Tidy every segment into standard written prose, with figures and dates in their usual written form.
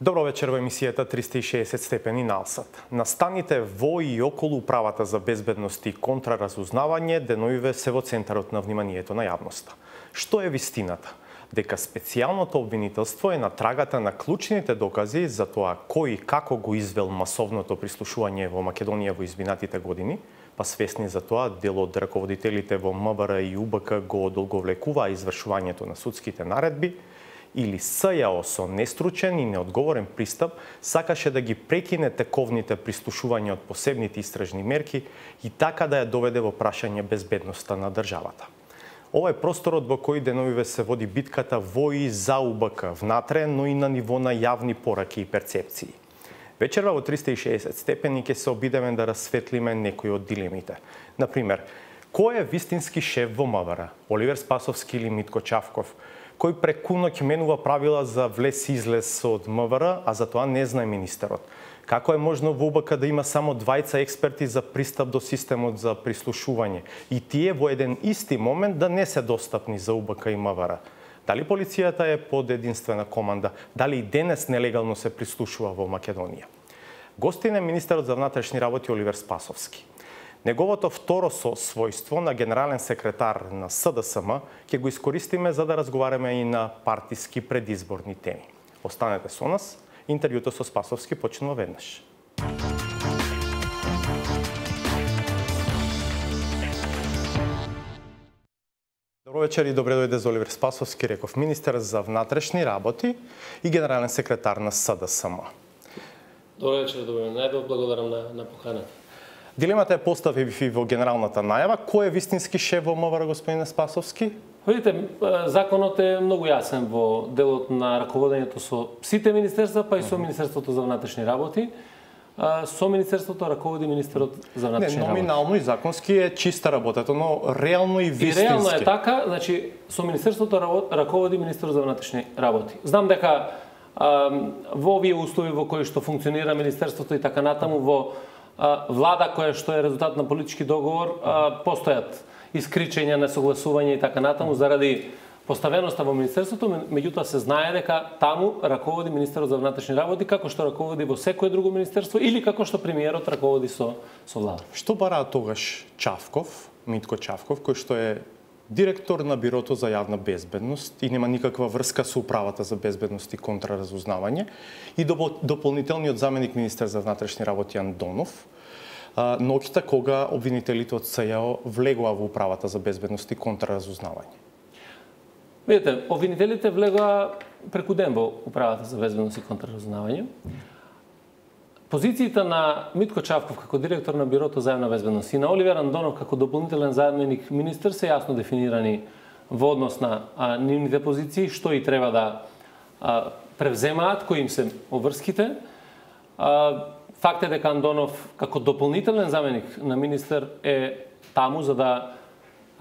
Добро вечер во емисијата 360 степени налсат. Настаните во и околу управата за безбедност и контраразузнавање деновиве се во центарот на вниманието на јавноста. Што е вистината? Дека специјалното обвинителство е на трагата на клучните докази за тоа кој и како го извел масовното прислушување во Македонија во изминатите години, па свесни за тоа дел од раководителите во МВР и УБК го одолговлекуваа извршувањето на судските наредби, или СЈО со нестручен и неодговорен пристап сакаше да ги прекине тековните прислушувања од посебните истражни мерки и така да ја доведе во прашање безбедноста на државата. Ова е просторот во кој деновиве се води битката во и за УБК внатре, но и на ниво на јавни пораки и перцепции. Вечерва во 360 степени ќе се обидеме да расветлиме некои од дилемите. Например, кој е вистински шеф во МВР? Оливер Спасовски или Митко Чавков? Кој преку ноќ менува правила за влез-излез од МВР, а за тоа не знае министерот? Како е можно во УБК да има само двајца експерти за пристап до системот за прислушување и тие во еден исти момент да не се достапни за УБК и МВР? Дали полицијата е под единствена команда? Дали и денес нелегално се прислушува во Македонија? Гостин е министерот за внатрешни работи Оливер Спасовски. Неговото второ својство на генерален секретар на СДСМ ќе го искористиме за да разговараме и на партиски предизборни теми. Останете со нас, интервјуто со Спасовски почнува веднаш. Добро вечер и добре дојде за Оливер Спасовски, реков министер за внатрешни работи и генерален секретар на СДСМ. Добро вечер, добро најдов, благодарам на поканата. Дилемата е поставив и во генералната најава. Кој е вистински шеф во МВР, господине Спасовски? Видите, законот е многу јасен во делот на раководењето со сите министерства, па и со Министерството за внатрешни работи. Со министерството раководи министерот за внатрешни работи. Номинално и законски е чиста работата, но реално и вистински. И реално е така, значи со министерството раководи министерот за внатрешни работи. Знам дека во овие услови во кои што функционира министерството и така натаму во влада која што е резултат на политички договор, постојат искричења, несогласување и така натаму заради поставеноста во министерството, меѓутоа се знае дека таму раководи министерот за внатрешни работи како што раководи во секое друго министерство или како што премиерот раководи со влада. Што бараа тогаш Чавков, Митко Чавков, кој што е директор на Бирото за јавна безбедност и нема никаква врска со управата за безбедност и контраразузнавање, и дополнителниот заменик министер за внатрешни работи Андонов, ноќта кога обвинителите од СЈО влегоа во управата за безбедност и контраразузнавање? Видите, обвинителите влегоа преку ден во управата за безбедност и контраразузнавање. Позициите на Митко Чавков како директор на Бирото за јавна безбедност и на Оливер Андонов како дополнителен заменик министер се јасно дефинирани во однос на нивните позиции, што и треба да превземаат, кои им се обврските. Факт е дека Андонов како дополнителен заменик на министер е таму за да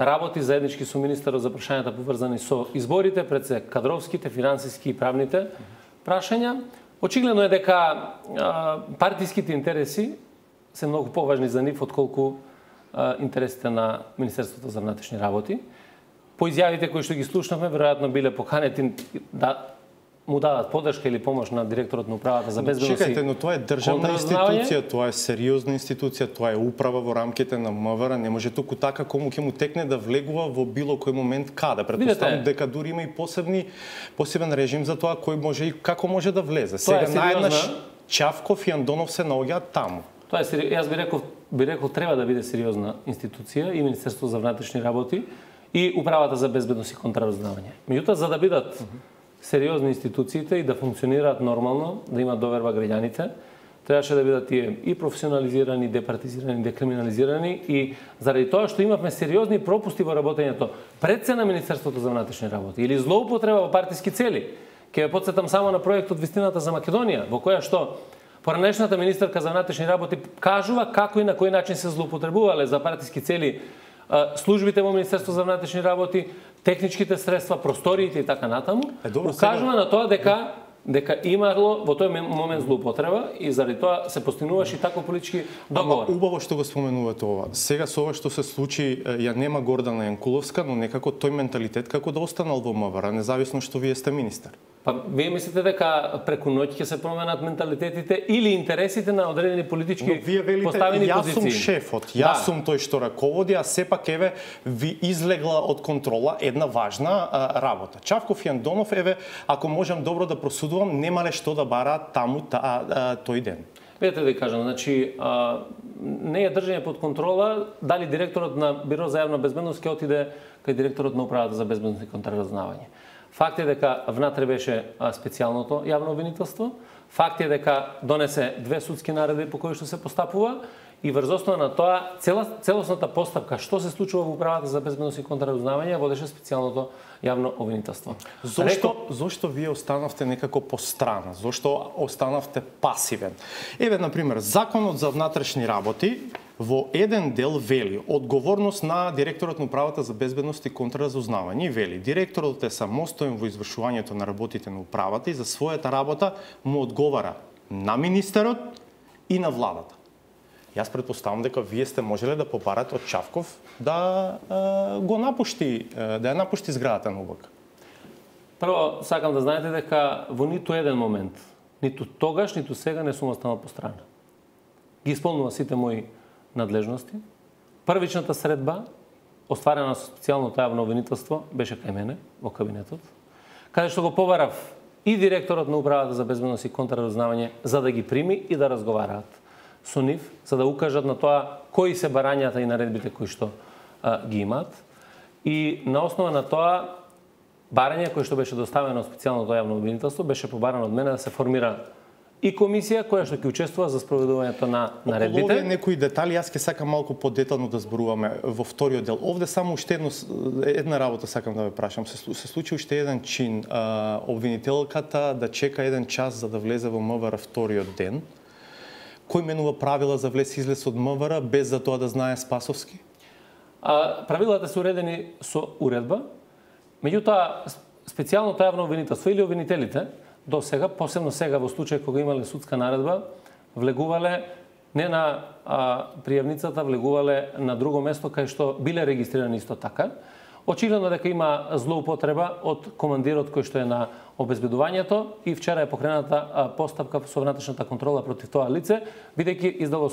работи заеднички со министерот за прашањата поврзани со изборите, пред се кадровските, финансиски и правните прашања. Очигледно е дека партиските интереси се многу поважни за нив отколку интересите на Министерството за внатрешни работи. По изјавите кои што ги слушнавме, веројатно биле поканети да му дадат подршка или помош на директорот на управата за безбедност. Чекајте, но тоа е државна институција, тоа е сериозна институција, тоа е управа во рамките на МВР, не може туку така кому ќе му текне да влегува во било кој момент каде. Претпоставам дека дури има и посебен режим за тоа кој може и како може да влезе. Сега наеднаш Чавков и Андонов се наоѓаат таму. Тоа е јас би рекол треба да биде сериозна институција и Министерството за внатрешни работи и управата за безбедност и контраразузнавање. Меѓутоа, за да бидат сериозни институциите и да функционираат нормално, да имаат доверба граѓаните, требаше да бидат тие и професионализирани, департизирани, декриминализирани и заради тоа што имавме сериозни пропусти во работењето пред се на Министерството за внатрешни работи или злоупотреба во партиски цели. Ќе ве потсетам само на проектот Вистината за Македонија, во која што поранешната министерка за внатрешни работи кажува како и на кој начин се злоупотребувале за партиски цели службите во Министерство за внатрешни работи, техничките средства, просториите и така натаму, укажува на тоа дека имало во тој момент злоупотреба и заради тоа се постигнуваше и таков политички договор. Убаво што го споменувате ова. Сега со ова што се случи, ја нема Гордана Јанкуловска, но некако тој менталитет како да останал во МВР, независно што вие сте министер. Па вие мислите дека преку ноќ ќе се променат менталитетите или интересите на одредени политички поставени позиции? Јас сум шефот, јас сум тој што раководи, а сепак еве ви излегла од контрола една важна работа. Чавков и Андонов, еве, ако можам добро да просудувам, немале што да бараат таму тој ден. Видете да ви кажам, значи не е држање под контрола дали директорот на Биро за јавна безбедност ќе отиде кај директорот на Управата за безбедност и контраразузнавање. Факт е дека внатре беше специјалното јавно обвинителство. Факт е дека донесе 2 судски наредби по кои што се постапува и врз основа на тоа целосната постапка што се случува во Управата за безбедност и контраразузнавање водеше специјалното јавно обвинителство. Зошто вие останавте некако по страна? Зошто останавте пасивен? Еве, например, Законот за внатрешни работи во еден дел вели одговорност на директорот на Управата за безбедност и контраразузнавање и вели директорот е самостоен во извршувањето на работите на управата и за својата работа му одговара на министерот и на владата. Јас претпоставам дека вие сте можеле да побарате од Чавков да ја напушти зградата на УБК. Прво, сакам да знаете дека во ниту еден момент, ниту тогаш, ниту сега не сум останал по страна. Ги исполнува сите мои надлежности. Првичната средба, остварена со специјалното јавно обвинителство, беше кај мене, во кабинетот, каде што го побарав и директорот на Управата за безбедност и контраразузнавање за да ги прими и да разговараат со нив, за да укажат на тоа кои се барањата и наредбите кои што ги имаат. И на основа на тоа, барање кој што беше доставено од специјалното јавно обвинителство, беше побарано од мене да се формира и комисија која што ќе учествува за спроведувањето на наредбите. Околу овие некои детали, јас ќе сакам малку подетално да зборуваме во вториот дел. Овде само уште една работа сакам да ве прашам. Се случи уште еден чин, обвинителката да чека еден час за да влезе во МВР вториот ден. Кој менува правила за влез-излез од МВР без за тоа да знае Спасовски? Правилата се уредени со уредба, меѓутоа специјалното јавно обвинителство или обвинителите до сега, посебно сега во случај кога имале судска наредба, влегувале не на пријавницата, влегувале на друго место кај што биле регистрирани исто така. Очигледно дека има злоупотреба од командирот кој што е на обезбедувањето и вчера е покрената постапка со внатрешната контрола против тоа лице, бидејќи издало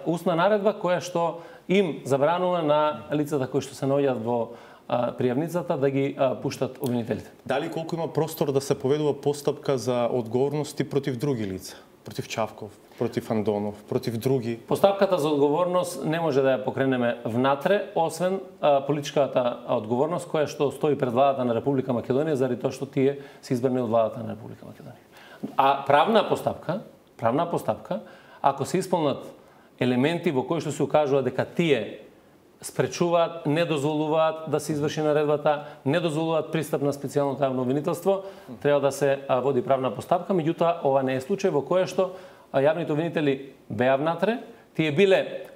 устна наредба која што им забранува на лицата кои што се наоѓаат во пријавницата да ги пуштат обвинителите. Дали колку има простор да се поведува постапка за одговорности против други лица? Против Чавков, против Андонов, против други? Постапката за одговорност не може да ја покренеме внатре, освен политичката одговорност која што стои пред владата на Република Македонија заради тоа што тие се избрани од владата на Република Македонија. А правна постапка, ако се исполнат елементи во кои што се укажува дека тие спречуваат, не дозволуваат да се изврши наредбата, не дозволуваат пристап на специјалното јавно обвинителство, треба да се води правна постапка, меѓутоа ова не е случај во кој што јавните обвинители беа внатре, тие биле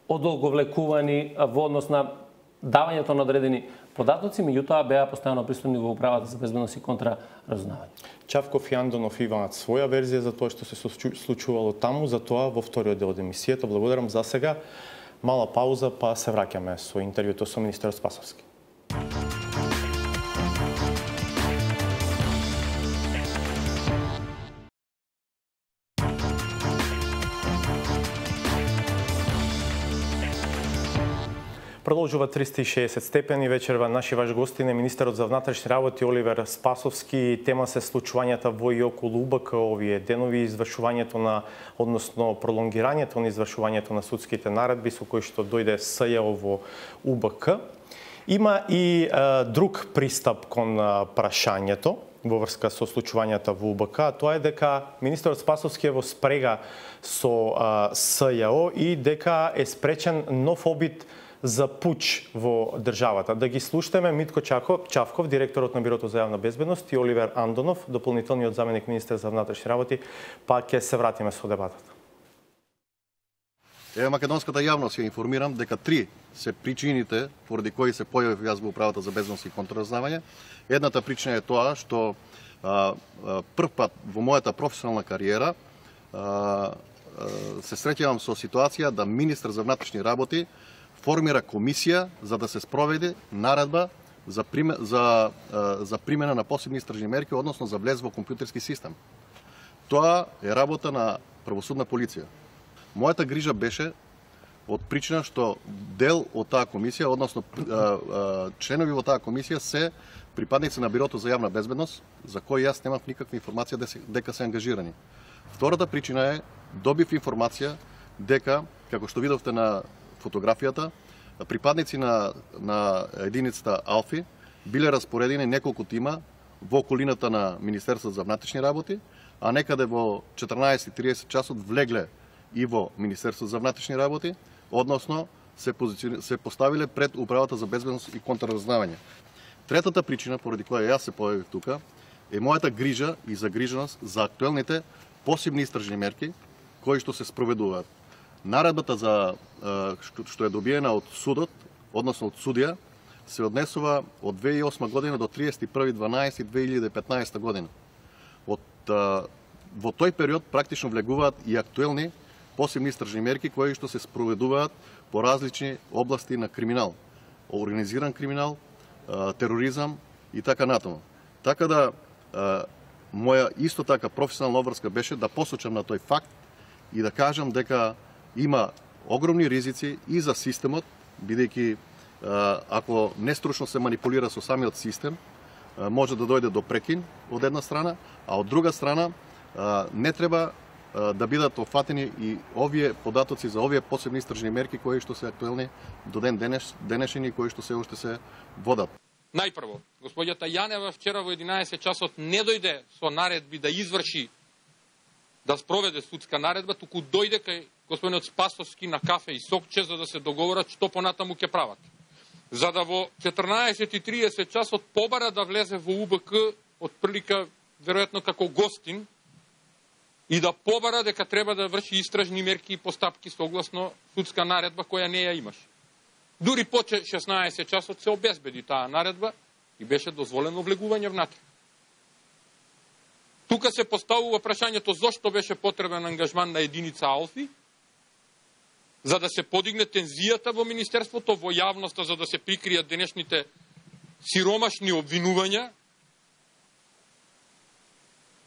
одолговлекувани во однос на давањето на одредени податоци, меѓутоа беа постојано присутни во Управата за безбедност и контраразузнавање. Чавков и Андонов имаат своја верзија за тоа што се случувало таму, за тоа во вториот дел од емисијата. Благодарам за сега. Мала пауза, па се враќаме со интервјуто со министерот Спасовски. Продолжува 360 степени. Вечерва наши ваш гостин е министерот за внатрешни работи Оливер Спасовски. Тема се случувањата во и околу УБК овие денови, извршувањето на, односно пролонгирањето на извршувањето на судските наредби со кои што дојде СЈО во УБК. Има и друг пристап кон прашањето во врска со случувањата во УБК, тоа е дека министерот Спасовски е во спрега со СЈО и дека е спречен нов обид за пуч во државата. Да ги слушаме Митко Чавков, директорот на Бирото за јавна безбедност, и Оливер Андонов, дополнителниот заменик министер за внатрешни работи, па ќе се вратиме со дебатата. Македонската јавност ја информирам дека 3 се причините поради кои се појавив јас во Управата за безбедност и контраразузнавање. Едната причина е тоа што прв пат во мојата професионална кариера се среќавам со ситуација да министер за внатрешни работи формира комисија за да се спроведе наредба за примена на посебни истражни мерки, односно за влез во компјутерски систем. Тоа е работа на правосудна полиција. Мојата грижа беше од причина што дел од таа комисија, односно членови во таа комисија се припадници на Бирото за јавна безбедност, за кои јас немав никаква информација дека се ангажирани. Втората причина е добив информација дека, како што видовте на фотографијата, припадници на единицата Алфи биле распоредени неколку тима во околината на Министерството за внатрешни работи, а некаде во 14:30 часот влегле и во Министерството за внатрешни работи, односно се поставиле пред Управата за безбедност и контраразузнавање. Третата причина поради која јас се појавив тука е мојата грижа и загриженост за актуелните посебни истражни мерки кои што се спроведуваат. Наредбата за што е добиена од судот, односно од судија, се однесува од 2008 година до 31.12.2015 година. Во тој период практично влегуваат и актуелни посебни истражни мерки кои што се спроведуваат по различни области на криминал, организиран криминал, тероризам и така натаму. Така да моја исто така професионална обврска беше да посочам на тој факт и да кажам дека има огромни ризици и за системот, бидејќи ако нестручно се манипулира со самиот систем, може да дојде до прекин од една страна, а од друга страна не треба да бидат офатени и овие податоци за овие посебни истражни мерки кои што се актуелни до ден денешен и кои што се уште се водат. Најпрво, господјата Јанева вчера во 11 часот не дојде со наредби да изврши, да спроведе судска наредба, туку дојде кај господинот Спасовски на кафе и сокче за да се договорат што понатаму ќе прават. За да во 14:30 часот побара да влезе во УБК од прилика веројатно како гостин и да побара дека треба да врши истражни мерки и постапки согласно судска наредба која не ја имаш. Дури по 16 часот се обезбеди таа наредба и беше дозволено влегување внатре. Тука се поставува прашањето зошто беше потребен ангажман на единица Алфи, за да се подигне тензијата во Министерството, во јавноста, за да се прикријат денешните сиромашни обвинувања,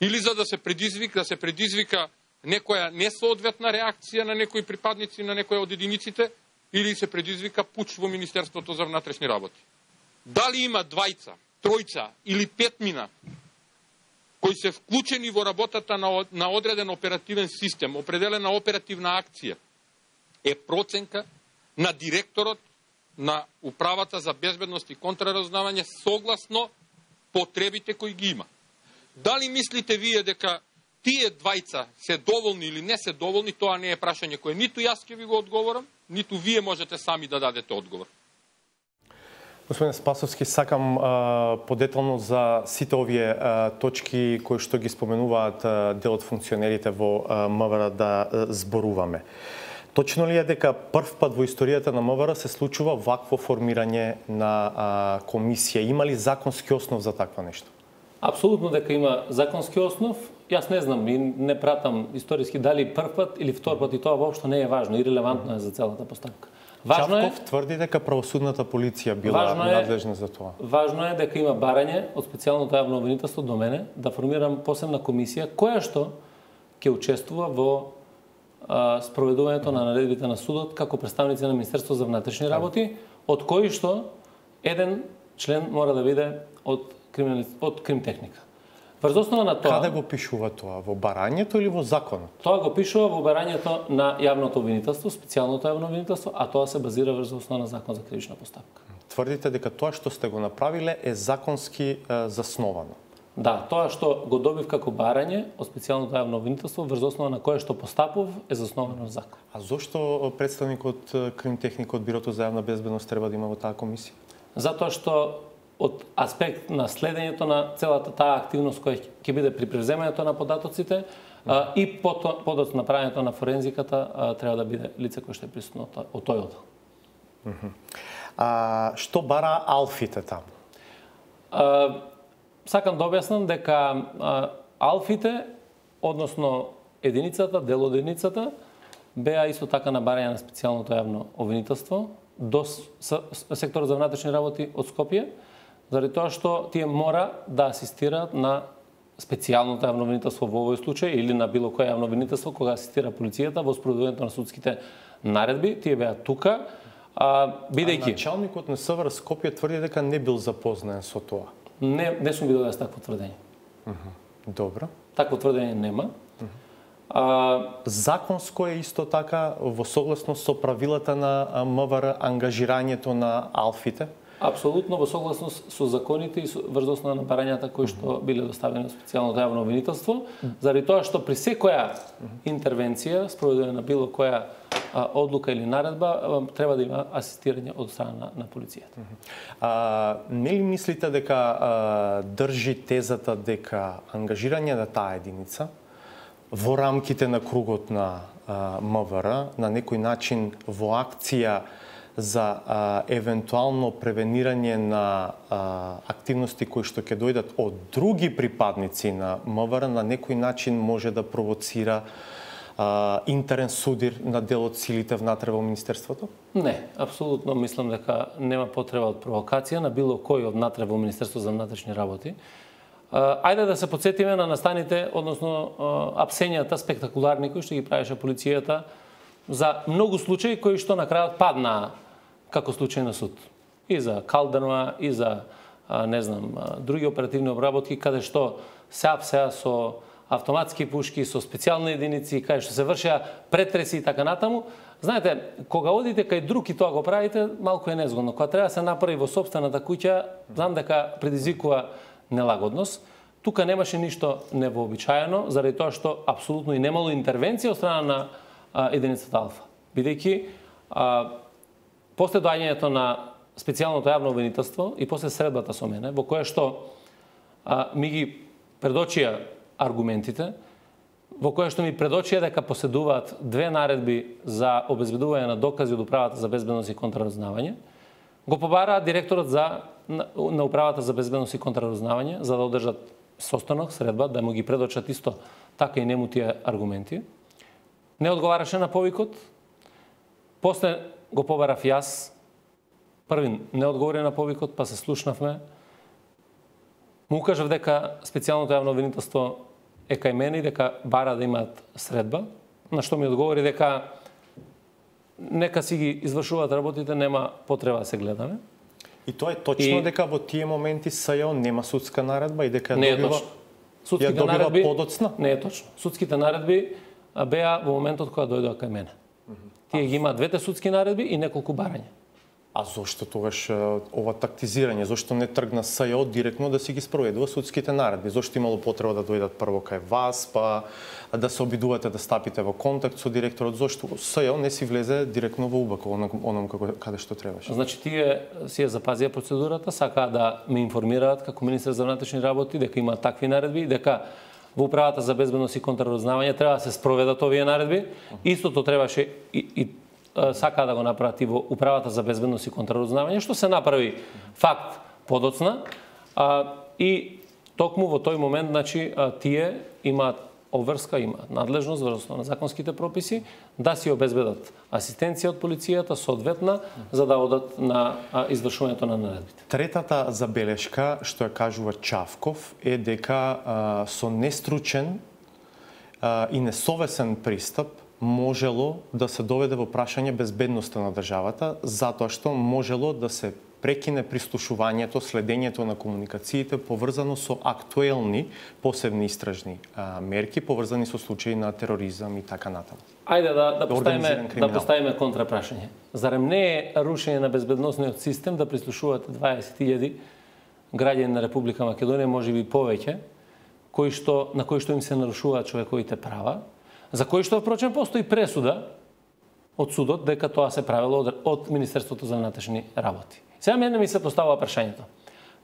или за да се предизвика некоја несоодветна реакција на некои припадници на некоја од единиците, или се предизвика пуч во Министерството за внатрешни работи. Дали има двајца, тројца или петмина кои се вклучени во работата на одреден оперативен систем, определена оперативна акција, е проценка на директорот на Управата за безбедност и контраразузнавање согласно потребите кои ги има. Дали мислите вие дека тие двајца се доволни или не се доволни, тоа не е прашање кое ниту јас ќе ви го одговорам, ниту вие можете сами да дадете одговор. Господин Спасовски, сакам подетално за сите овие точки кои што ги споменуваат дел од функционерите во МВР да зборуваме. Точно ли е дека прв пат во историјата на МВР се случува вакво формирање на комисија? Има ли законски основ за такво нешто? Апсолутно дека има законски основ. Јас не знам и не пратам историски дали прв пат или втор пат, и тоа воопшто не е важно и релевантно е за целата постапка. Чавков тврди дека правосудната полиција била надлежна за тоа. Важно е дека има барање од специјалното јавно обвинителство до мене да формирам посебна комисија која што ќе учествува во спроведувањето на наредбите на судот како представници на Министерството за внатрешни работи, од кои што еден член мора да биде од кримтехника. Врз основа на тоа... Каде го пишува тоа? Во барањето или во законот? Тоа го пишува во барањето на јавното обвинителство, специјалното јавно обвинителство, а тоа се базира врз основа на закон за кривична постапка. Тврдите дека тоа што сте го направиле е законски засновано? Да, тоа што го добив како барање од специјалното јавно обвинителство врз основа на кое што постапов е засновано во закон. А зошто представникот кримтехника од Бирото за јавна безбедност треба да има во таа комисија? Затоа што од аспект на следењето на целата таа активност која ќе биде при превземањето на податоците и подоц на правењето на форензиката треба да биде лице кое што е присутно од тој оддел. Што бара Алфите таму? Сакам да објаснам дека Алфите, односно единицата, дел од единицата, беа исто така на барање на специјалното јавно обвинителство до секторот за внатрешни работи од Скопје, заради тоа што тие мора да асистираат на специјалното јавно обвинителство во овој случај или на било кое јавно обвинителство кога асистира полицијата во спроведувањето на судските наредби. Тие беа тука, бидејќи началникот на СВР Скопје тврди дека не бил запознаен со тоа. Не сум видел јас такво тврдење. Добро. Такво тврдење нема. Законско е исто така во согласност со правилата на МВР ангажирањето на алфите? Апсолутно во согласност со законите и врз основа на барањата кои што биле доставени на специјалното јавно обвинителство, заради тоа што при секоја интервенција, спроведување на било која одлука или наредба, треба да има асистирање од страна на полицијата. Не ли мислите дека држи тезата дека ангажирање на таа единица во рамките на кругот на МВР на некој начин во акција за евентуално превенирање на активности кои што ќе дојдат од други припадници на МВР на некој начин може да провоцира интерен судир на дел од силите внатре во Министерството? Не, апсолутно мислам дека нема потреба од провокација на било кој од внатре во Министерството за внатрешни работи. Ајде да се потсетиме на настаните, односно апсењата спектакуларни кои што ги правеше полицијата за многу случаи кои што на крајот паднаа како случај на суд. И за Калдерма, и за други оперативни обработки каде што се апсеа со автоматски пушки, со специјални единици, каде што се вршеа претреси и така натаму. Знаете, кога одите кај друг и тоа го правите, малку е незгодно. Кога треба да се направи во сопствената куќа, знам дека предизвикува нелагодност. Тука немаше ништо невообичаено, заради тоа што апсолутно и немало интервенција од страна на единицата Алфа. Бидејќи после доаѓањето на специјалното јавно обвинителство и после средбата со мене, во која што ми ги предочија аргументите, во која што ми предочија дека поседуваат две наредби за обезбедување на докази од Управата за безбедност и контраразузнавање, го побараа директорот на Управата за безбедност и контраразузнавање за да одржат состанок, средба, да му ги предочат исто така и нему тие аргументи. Не одговараше на повикот. После го побарав јас. Првин не одговори на повикот, па се слушнавме. Му укажав дека специјалното јавно обвинителство е кај мене и дека бара да имаат средба, на што ми одговори дека нека си ги извршуваат работите, нема потреба да се гледаме. И тоа е точно дека во тие моменти СЈО нема судска наредба и дека не е добива, точно. Судските наредби подоцна? Не е точно. Судските наредби беа во моментот кога дојдоа кај мене. Тие ги имаат двете судски наредби и неколку барања. А зошто тогаш ова тактизирање? Зошто не тргна СЈО директно да си ги спроведува судските наредби? Зошто имало потреба да дојдат прво кај вас, па да се обидувате да стапите во контакт со директорот? Зошто СЈО не си влезе директно во УБК, оном каде што требаше? Значи, тие си ја запазија процедурата, сакаа да ме информираат како министер за внатрешни работи дека има такви наредби, дека во Управата за безбедност и контраразузнавање треба да се спроведат овие наредби. Истото требаше и сакаа да го направат и во Управата за безбедност и контраразузнавање, што се направи факт подоцна. И токму во тој момент, значи, тие имаат обврска, имаат надлежност врз основа на законските прописи да си обезбедат асистенција од полицијата соодветна за да одат на извршувањето на наредбите. Третата забелешка што ја кажува Чавков е дека со нестручен и несовесен пристап можело да се доведе во прашање безбедноста на државата, затоа што можело да се прекине прислушувањето, следењето на комуникациите поврзано со актуелни посебни истражни мерки, поврзани со случаи на тероризам и така натаму. Ајде да поставиме контрапрашање. Зарем не е рушење на безбедносниот систем да прислушувате 20.000 граѓани на Република Македонија, можеби повеќе, на кои што им се нарушуваат човековите права, за кои што впрочем постои пресуда од судот дека тоа се правело од Министерството за внатрешни работи. Сега мене ми се поставува прашањето.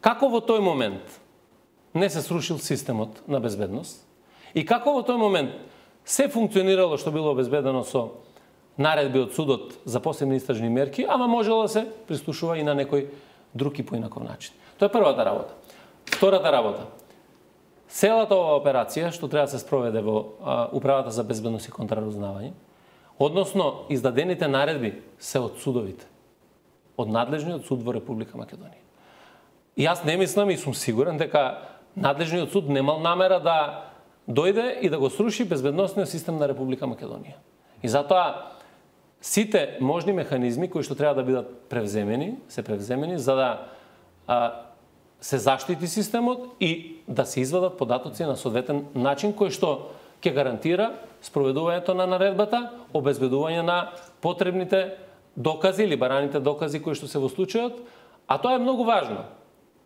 Како во тој момент не се срушил системот на безбедност и како во тој момент се функционирало што било обезбедено со наредби од судот за посебни истражни мерки, ама можело да се прислушува и на некој друг и поинаков начин. Тоа е првата работа. Втората работа. Целата ова операција што треба да се спроведе во Управата за безбедност и контраразузнавање, односно издадените наредби се од судовите, од надлежниот суд во Република Македонија. И јас не мислам и сум сигурен дека надлежниот суд немал намера да дојде и да го сруши безбедносниот систем на Република Македонија. И затоа сите можни механизми кои што треба да бидат превземени, се превземени за да се заштити системот и да се извадат податоци на соодветен начин кој што ќе гарантира спроведувањето на наредбата, обезбедување на потребните докази или бараните докази кои што се во случајот, а тоа е многу важно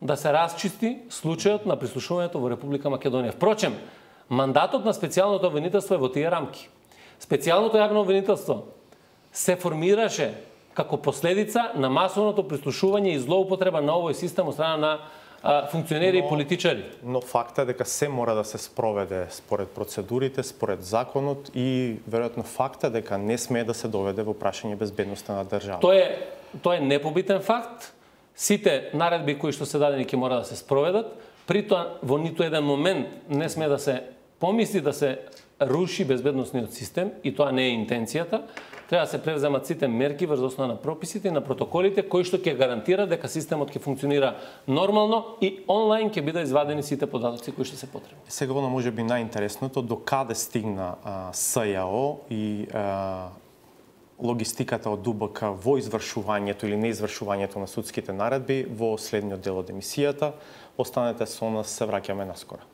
да се расчисти случајот на прислушувањето во Република Македонија. Впрочем, мандатот на специјалното обвинителство е во тие рамки. Специјалното јавно обвинителство се формираше како последица на масовното прислушување и злоупотреба на овој систем од страна на функционери и политичари. Но факт е дека се мора да се спроведе според процедурите, според законот и веројатно факт е дека не смее да се доведе во прашање безбедноста на државата. Тоа е непобитен факт. Сите наредби кои што се дадени ќе мора да се спроведат. При тоа во ниту еден момент не смее да се помисли да се руши безбедносниот систем и тоа не е интенцијата. Треба да се превземат сите мерки врз основа на прописите и на протоколите кои што ќе гарантира дека системот ќе функционира нормално и онлайн ќе бидат извадени сите податоци кои што се потребни. Сега оно можеби најинтересното до каде стигна СЈО и логистиката од ДУБК во извршувањето или неизвршувањето на судските наредби во следниот дел од емисијата. Останете со нас, се враќаме наскоро.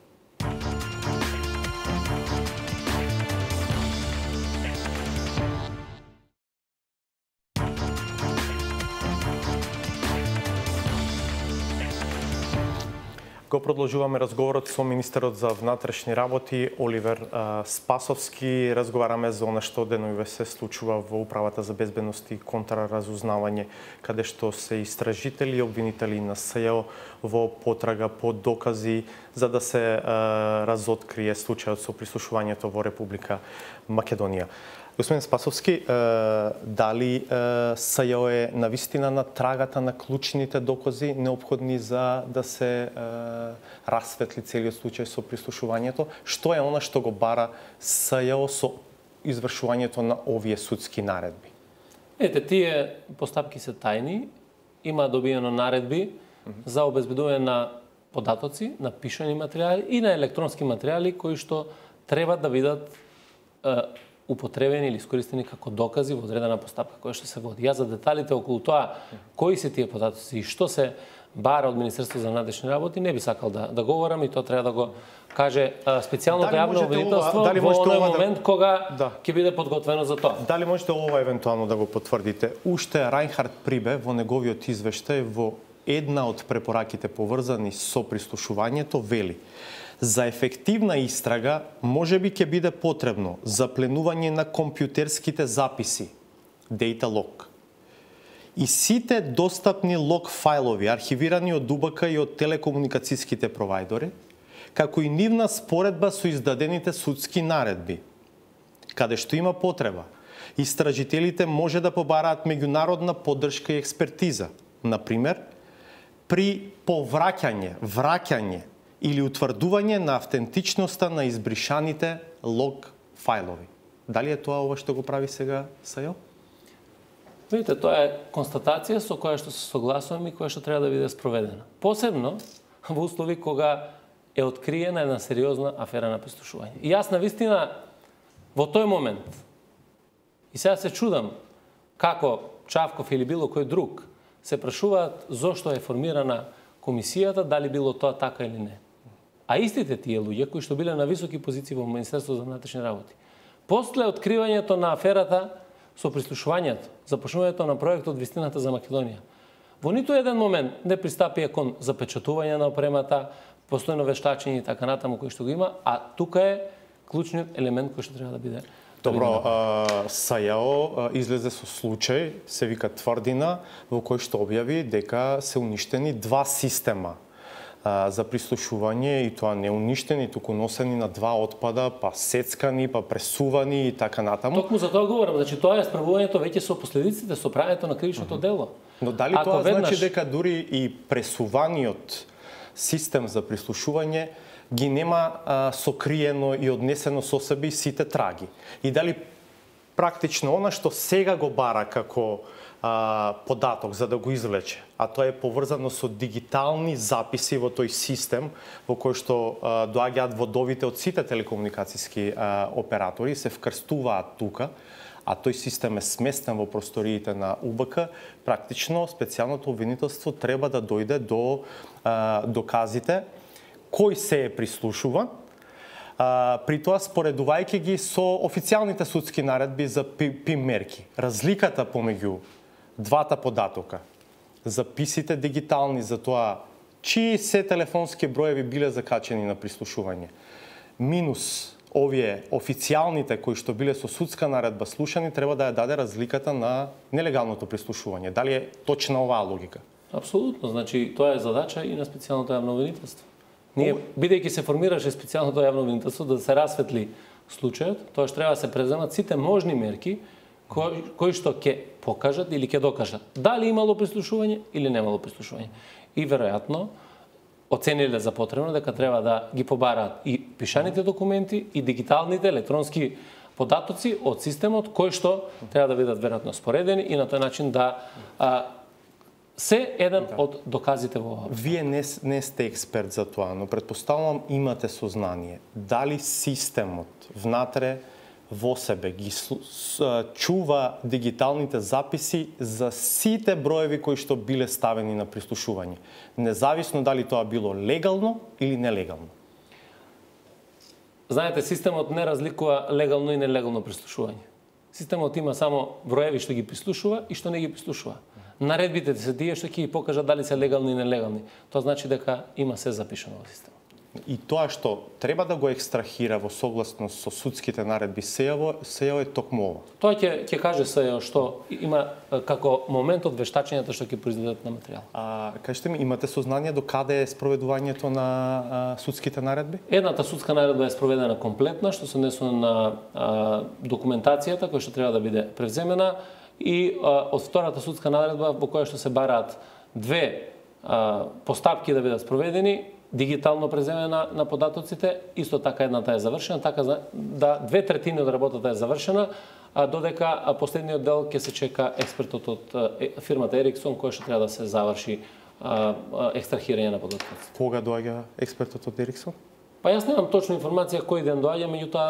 Го продолжуваме разговорот со министерот за внатрешни работи Оливер Спасовски. Разговараме за она што деноиве се случува во Управата за безбедност и контраразузнавање, каде што се истражители и обвинители на СЈО во потрага по докази за да се разоткрие случајот со прислушувањето во Република Македонија. Господин Спасовски, дали СЈО е навистина на трагата на клучните докази неопходни за да се расветли целиот случај со прислушувањето? Што е она што го бара СЈО со извршувањето на овие судски наредби? Ете, тие постапки се тајни. Има добиено наредби за обезбедување на податоци, на пишани материјали и на електронски материјали кои што треба да бидат употребени или искористени како докази во одредена постапка која што се води. Јас за деталите околу тоа кои се тие податоци и што се бара од Министерството за внатрешни работи не би сакал да говорам и тоа треба да го каже специјалното јавно обвинителство во оној момент кога ќе биде подготвено за тоа. Дали можете ова евентуално да го потврдите? Уште Рајнхард Прибе во неговиот извештај во една од препораките поврзани со прислушувањето вели: за ефективна истрага можеби ќе биде потребно запленување на компјутерските записи, data log, и сите достапни лог фајлови архивирани од ДУБК и од телекомуникацијските провајдори, како и нивна споредба со издадените судски наредби. Каде што има потреба, истражителите може да побараат меѓународна поддршка и експертиза, например, при повраќање, враќање или утврдување на автентичноста на избришаните лог фајлови. Дали е тоа ова што го прави сега СЈО? Видите, тоа е констатација со која што се согласувам и која што треба да биде спроведена. Посебно во услови кога е откриена една сериозна афера на прислушување. И јас навистина во тој момент и сега се чудам како Чавков или било кој друг се прашуваат зошто е формирана комисијата, дали било тоа така или не. А истите тие луѓе кои што биле на високи позиции во Министерството за внатрешни работи, после откривањето на аферата со прислушувањето, започнувањето на проектот Вистината за Македонија, во ниту еден момент не пристапија кон запечатување на опремата, постојно вештачење и така натаму кој што го има, а тука е клучниот елемент кој што треба да биде. Добро, СЈО излезе со случај, се вика Тврдина, во кој што објави дека се уништени два система за прислушување, и тоа не уништени, туку носени на два отпада, па сецкани, па пресувани и така натаму. Токму за тоа говорам, значи тоа е справувањето веќе со последиците, со правењето на кривичното дело. Но дали тоа значи дека дури и пресуваниот систем за прислушување ги нема сокриено и однесено со себе сите траги? И дали практично она што сега го бара како податок за да го извлече, а тоа е поврзано со дигитални записи во тој систем во кој што доаѓаат водовите од сите телекомуникацијски оператори, се вкрстуваат тука, а тој систем е сместен во просториите на УБК, практично специјалното обвинителство треба да дојде до доказите кој се е прислушуван, при тоа споредувајќи ги со официјалните судски наредби за ПИМ мерки. Разликата помеѓу двата податока, записите дигитални за тоа чии се телефонски броеви биле закачени на прислушување, минус овие официјалните кои што биле со судска наредба слушани, треба да ја даде разликата на нелегалното прислушување. Дали е точна оваа логика? Апсолутно, значи тоа е задача и на специјалното јавно обвинителство. Ние, бидејќи се формираше специјалното јавно обвинителство да се расветли случајот, тоа што треба да се преземат сите можни мерки кои што ќе покажат или ќе докажат дали имало прислушување или немало прислушување. И веројатно оцениле за потребно дека треба да ги побараат и пишаните документи и дигиталните електронски податоци од системот кои што треба да бидат веројатно споредени и на тој начин да се еден од доказите во ова. Вие не сте експерт за тоа, но предпоставувам имате сознание дали системот внатре во себе ги чува дигиталните записи за сите броеви кои што биле ставени на прислушување, независно дали тоа било легално или нелегално. Знаете, системот не разликува легално и нелегално прислушување. Системот има само броеви што ги прислушува и што не ги прислушува. Наредбите се тие што ќе ги покажат дали се легални и нелегални. Тоа значи дека има се запишано во системот. И тоа што треба да го екстрахира во согласност со судските наредби сејаво е токму ова. Тоа ќе каже сејаво што има како момент од вештачењето што ќе произведат на материјал. Кажете ми, имате сознание до каде е спроведувањето на судските наредби? Едната судска наредба е спроведена комплетна, што се однесува на документацијата која што треба да биде превземена и од втората судска наредба во која што се бараат две постапки да бидат спроведени, дигитално преземена на податоците, исто така едната е завршена, така да 2/3 од работата е завршена, додека последниот дел ќе се чека експертот од фирмата Ериксон кој што треба да се заврши екстрахирање на податоците. Кога доаѓа експертот од Ериксон? Па јас немам точна информација кој ден доаѓа, меѓутоа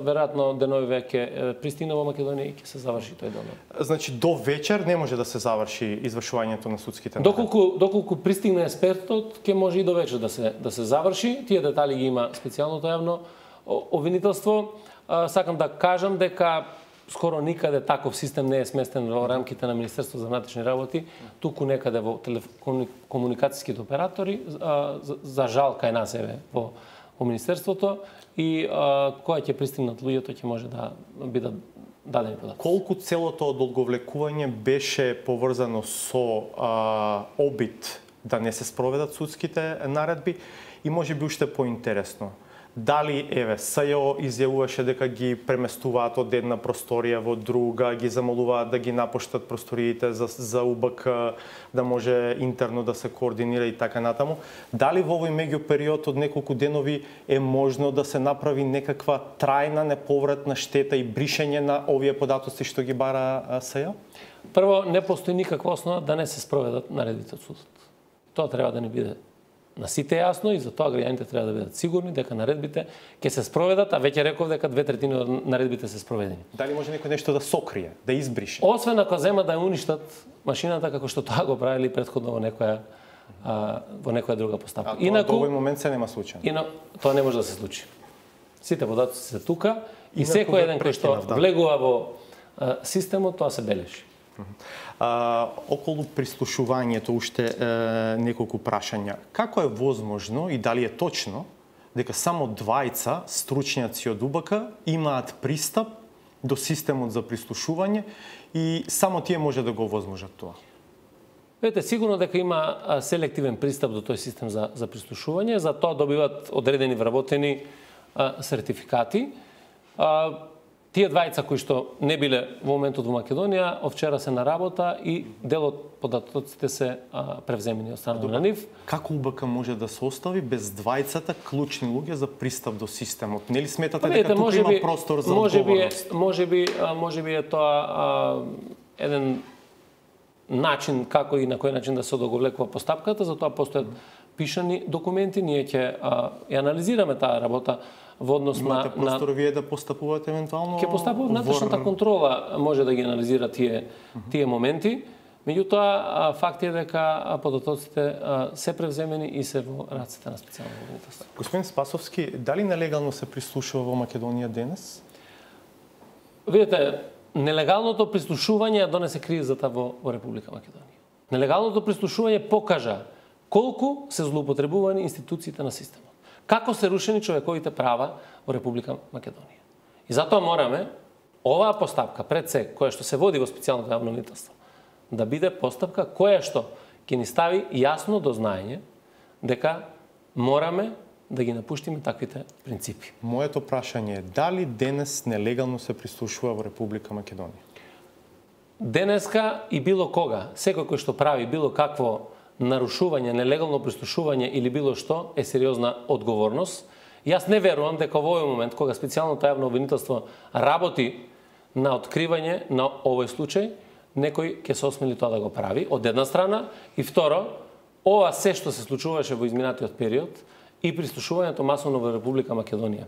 веројатно деновиве ќе пристигне во Македонија и ќе се заврши тој дел. Значи до вечер не може да се заврши извршувањето на судските наредби. Доколку пристигне експертот, ќе може и до вечер да се заврши. Тие детали ги има специјалното јавно обвинителство. Сакам да кажам дека скоро никаде таков систем не е сместен во рамките на Министерството за внатрешни работи, туку некаде во комуникацијските оператори, за жал кај нас еве во Министерството, и кога ќе пристигнат луѓето ќе може да бидат дадени податоци. Колку целото одолговлекување беше поврзано со обид да не се спроведат судските наредби и можеби уште поинтересно, дали СЈО изјавуваше дека ги преместуваат од една просторија во друга, ги замолуваат да ги напуштат просториите за УБК, да може интерно да се координира и така натаму. Дали во овој меѓупериод од неколку денови е можно да се направи некаква трајна неповратна штета и бришење на овие податоци што ги бара СЈО? Прво, не постои никаква основа да не се спроведат наредбите од судот. Тоа треба да не биде на сите јасно и затоа граѓаните треба да бидат сигурни дека наредбите ќе се спроведат, а веќе реков дека 2/3 од наредбите се спроведени. Дали може некој нешто да сокрие, да избрише? Освен ако зема да ја уништат машината како што тоа го правили претходно во некоја друга постапка. Инаку до овој момент се нема случај. Тоа не може да се случи. Сите податоци се тука и секој еден кој што влегува во системот, тоа се бележи. Околу прислушувањето уште неколку прашања. Како е возможно и дали е точно дека само двајца стручњаци од УБК имаат пристап до системот за прислушување и само тие може да го возможат тоа? Видете, сигурно дека има селективен пристап до тој систем за прислушување, за тоа добиваат одредени вработени сертификати. Тие двајца кои што не биле во моментот во Македонија, од вчера се на работа и дел од податоците се превземени од страна на нив. Како УБК може да се остави без двајцата клучни луѓе за пристап до системот? Нели сметате дека тука има простор за одговорност? Можеби е тоа еден начин како и на кој начин да се одоговлекува постапката, затоа постојат пишани документи, ние ќе ја анализираме таа работа во однос на простор вие да постапувате евентуално. Ќе постапува внатрешната контрола, може да ги анализира тие моменти. Меѓутоа, факт е дека податоците се превземени и се во раците на специјално обвинителство. Господин Спасовски, дали нелегално се прислушува во Македонија денес? Видете, нелегалното прислушување ја донесе кризата во Република Македонија. Нелегалното прислушување покажа колку се злоупотребувани институциите на системот. Како се рушени човековите права во Република Македонија. И затоа мораме оваа постапка пред се, која што се води во специјалното јавно обвинителство, да биде постапка која што ќе ни стави јасно до знаење дека мораме да ги напуштиме таквите принципи. Моето прашање е дали денес нелегално се прислушува во Република Македонија? Денеска и било кога, секој кој што прави било какво нарушување, нелегално прислушување или било што е сериозна одговорност. Јас не верувам дека во овој момент кога специјалното јавно обвинителство работи на откривање на овој случај, некој ќе се осмели тоа да го прави, од една страна, и второ, ова се што се случуваше во изминатиот период и прислушувањето масовно во Република Македонија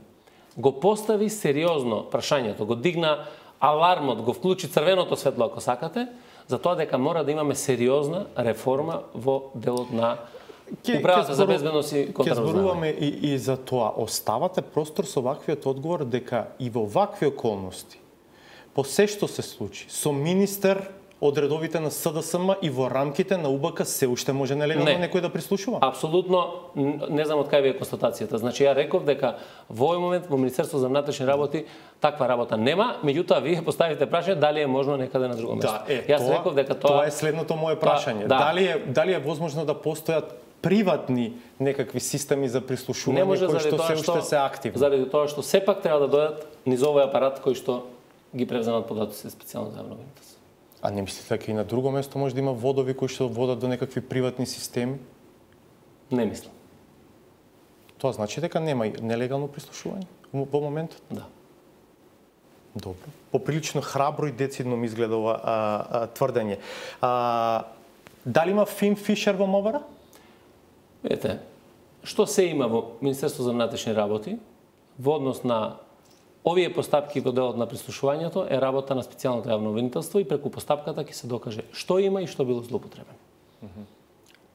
го постави сериозно прашањето, го дигна алармот, го вклучи црвеното светло, ако сакате, за тоа дека мора да имаме сериозна реформа во делот на управата за безбедност и контраразузнавање. Ќе зборуваме и за тоа. Оставате простор со ваквиот одговор дека и во вакви околности, по се што се случи, со министер од редовите на СДСМ и во рамките на УБК се уште може нелегално некој да прислушува? Апсолутно, не знам од кај ви е констатацијата. Значи, ја реков дека во овој момент во Министерство за внатрешни работи таква работа нема, меѓутоа вие поставите прашање дали е можно некаде на друго место. Јас реков дека тоа е следното мое прашање. Дали е возможно да постојат приватни некакви системи за прислушување кои што се уште се активни? Заради тоа што сепак треба да дојдат низ овој апарат кој што ги превземат податоците специјално за јавно обвинителство. А не мислите дека и на друго место може да има водови кои што водат до некакви приватни системи? Не мислам. Тоа значи дека нема нелегално прислушување во моментот? Да. Добро. Поприлично храбро и децидно ми изгледа ова тврдење. Дали има Фин Фишер во МВР? Ете, што се има во Министерство за внатрешни работи во однос на овие постапки во делот на прислушувањето е работа на специјалното јавно обвинителство и преку постапката ќе се докаже што има и што било злоупотребено.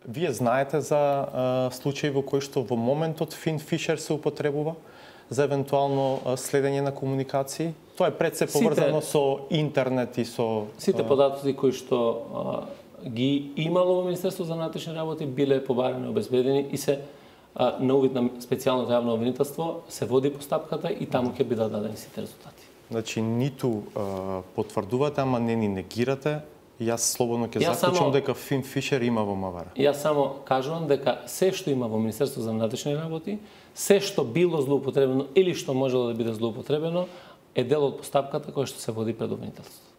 Вие знаете за случаи во кои што во моментот Фин Фишер се употребува за евентуално следење на комуникации? Тоа е пред се поврзано со интернет и со... Сите податоци кои што ги имало во Министерство за внатрешни работи биле побарани, обезбедени и се на увид на специјалното јавно обвинителство се води постапката и таму ќе бидат дадени сите резултати. Значи ниту потврдувате, ама не ни негирате. Јас слободно ќе заклучам дека Фин Фишер има во МВР. Јас само кажувам дека се што има во Министерство за внатрешни работи, се што било злоупотребено или што можело да биде злоупотребено, е дел од постапката која што се води пред обвинителството.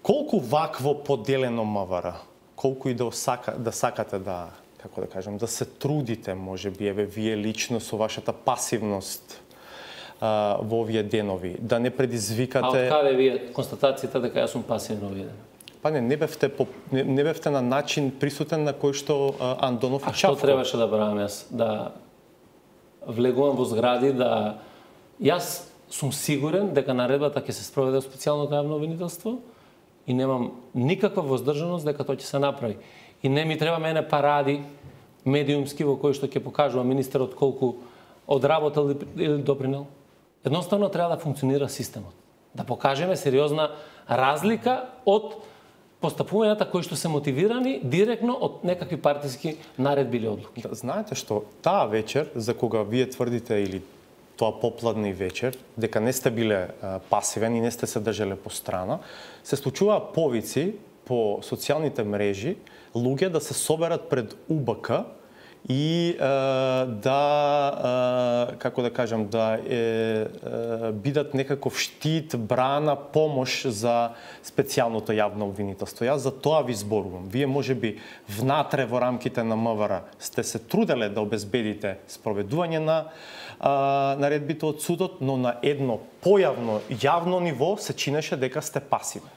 Колку вакво поделено МВР, колку и да сакате да, како да кажам, да се трудите, можеби, еве вие лично со вашата пасивност во овие денови, да не предизвикате... А од каде вие констатацијата дека јас сум пасивен овие денови? Па не бевте на начин присутен на кој што Андонов и Чавков. А што требаше да правам јас? Да влегувам во згради, да... Јас сум сигурен дека наредбата ќе се спроведе во специјалното јавно обвинителство и немам никаква воздржаност дека тоа ќе се направи. И не ми треба мене паради медиумски во кои што ќе покажува министерот колку одработил или допринел. Едноставно треба да функционира системот. Да покажеме сериозна разлика од постапувањата кои што се мотивирани директно од некакви партиски наредби или одлуки. Да, знаете што, таа вечер за кога вие тврдите или тоа попладни вечер, дека не сте биле пасивен и не сте се држале по страна, се случуваа повици по социјалните мрежи луѓе да се соберат пред УБК и како да кажам, да бидат некаков штит, брана, помош за специјалното јавно обвинителство. Јас за тоа ви зборувам. Вие можеби внатре во рамките на МВР сте се труделе да обезбедите спроведување на наредбите од судот, но на едно појавно, јавно ниво се чинеше дека сте пасивни.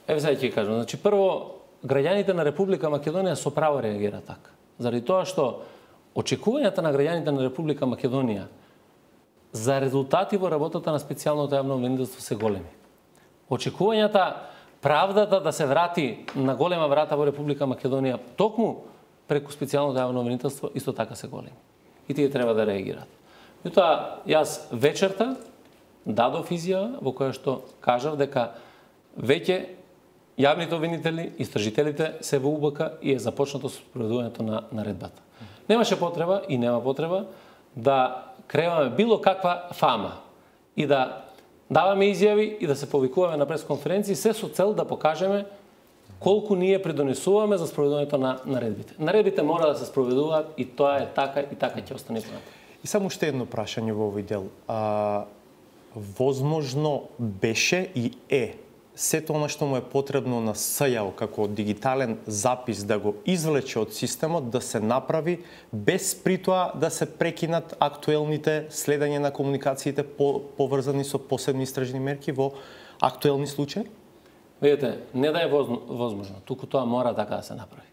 Еве сега ќе кажам. Значи прво граѓаните на Република Македонија со право реагираат така. Заради тоа што очекувањата на граѓаните на Република Македонија за резултати во работата на специјалното јавно обвинителство се големи. Очекувањата правдата да се врати на голема врата во Република Македонија токму преку специјалното јавно обвинителство исто така се големи. И тие треба да реагираат. Меѓутоа, јас вечерта дадов изјава во која што кажав дека веќе јавните обвинители, истражителите се во УБК и е започнато со спроведувањето на наредбата. Немаше потреба и нема потреба да креираме било каква фама и да даваме изјави и да се повикуваме на пресконференции се со цел да покажеме колку ние придонесуваме за спроведувањето на наредбите. Наредбите мора да се спроведуваат и тоа е така и така ќе остане понатаму. И само уште едно прашање во овој дел. Возможно беше и сето она што му е потребно на СЈО како дигитален запис да го извлече од системот, да се направи без при тоа да се прекинат актуелните следење на комуникациите поврзани со посебни истражни мерки во актуелни случаи? Видете, не да е возможно, туку тоа мора така да се направи.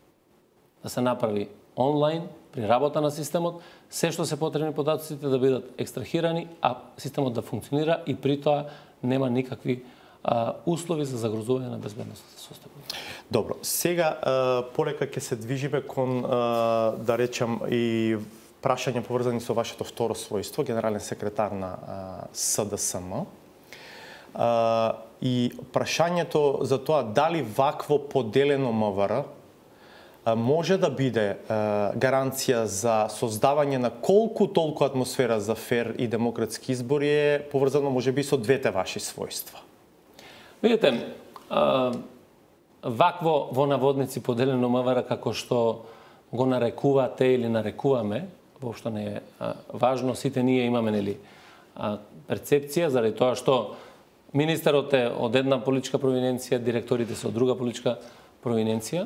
Да се направи онлайн, при работа на системот, се што се потребни податоците да бидат екстрахирани, а системот да функционира и при тоа нема никакви услови за загрозување на безбедноста состојба. Добро, сега полека ќе се движиме кон, да речам, и прашања поврзани со вашето второ својство, генерален секретар на СДСМ. И прашањето за тоа дали вакво поделено МВР може да биде гаранција за создавање на колку толку атмосфера за фер и демократски избори е поврзано можеби со двете ваши својства. Видите, вакво во наводници поделено МВР како што го нарекувате или нарекуваме, воопшто не е важно, сите ние имаме нели перцепција заради тоа што министерот е од една политичка провиненција, директорите се од друга политичка провиненција,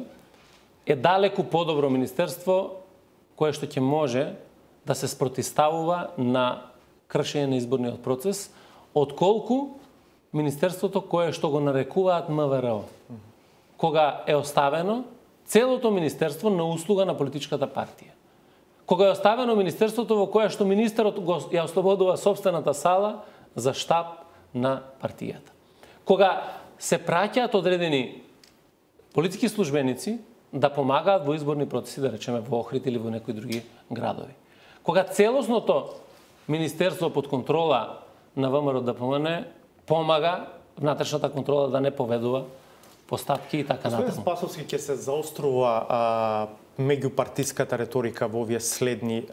е далеку подобро министерство кое што ќе може да се спротиставува на кршење на изборниот процес, отколку министерството кое што го нарекуваат МВР, кога е оставено целото министерство на услуга на политичката партија. Кога е оставено министерството во кое што министерот ја ослободува собствената сала за штаб на партијата. Кога се праќаат одредени политички службеници да помагаат во изборни процеси, да речеме во Охрид или во некои други градови. Кога целосното министерство под контрола на ВМРО ДПМН помага внатрешната контрола да не поведува постапки и така натаму. Господин Спасовски, ќе се заострува меѓупартиската реторика во овие следни